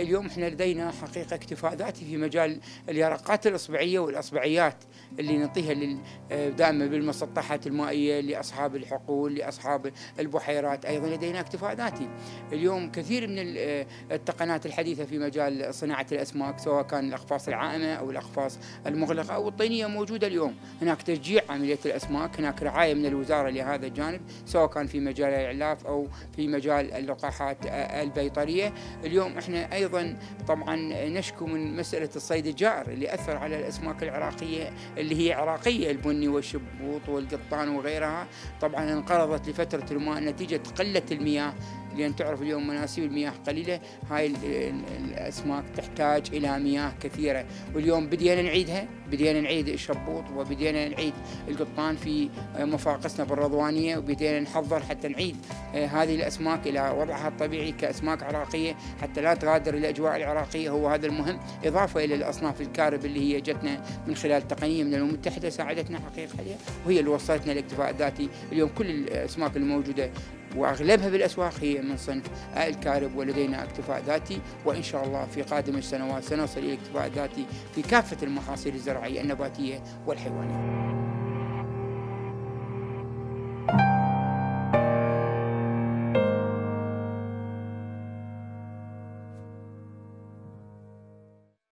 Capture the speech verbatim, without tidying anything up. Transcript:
اليوم احنا لدينا حقيقة اكتفاء ذاتي في مجال اليرقات الإصبعية والأصبعيات اللي نعطيها دائما بالمسطحات المائية لأصحاب الحقول، لأصحاب البحيرات. أيضا لدينا اكتفاء ذاتي اليوم. كثير من التقنيات الحديثة في مجال صناعة الأسماك، سواء كان الأقفاص العائمة أو الأقفاص المغلقة أو الطينية، موجودة اليوم. هناك تشجيع عملية الأسماك، هناك رعاية من الوزارة لهذا الجانب، سواء كان في مجال الإعلاف أو في مجال اللقاحات البيطرية. اليوم احنا أيضا طبعا نشكو من مسألة الصيد الجائر اللي أثر على الأسماك العراقية اللي هي عراقية، البني والشبوط والقطان وغيرها. طبعا انقرضت لفترة الماء نتيجة قلة المياه، لأن تعرف اليوم مناسيب المياه قليلة. هاي الأسماك تحتاج إلى مياه كثيرة، واليوم بدينا نعيدها، بدينا نعيد الشبوط وبدينا نعيد القطان في مفاقسنا بالرضوانية، وبدينا نحضر حتى نعيد هذه الأسماك إلى وضعها الطبيعي كأسماك عراقية حتى لا تغادر الأجواء العراقية. هو هذا المهم، إضافة إلى الأصناف الكارب اللي هي جتنا من خلال تقنية من الأمم المتحدة ساعدتنا حقيقة عليها، وهي اللي وصلتنا للاكتفاء الذاتي. اليوم كل الأسماك الموجودة وأغلبها بالأسواق هي من صنف الكارب، ولدينا اكتفاء ذاتي، وإن شاء الله في قادم السنوات سنصل إلى الاكتفاء الذاتي في كافة المحاصيل الزراعية النباتية والحيوانية.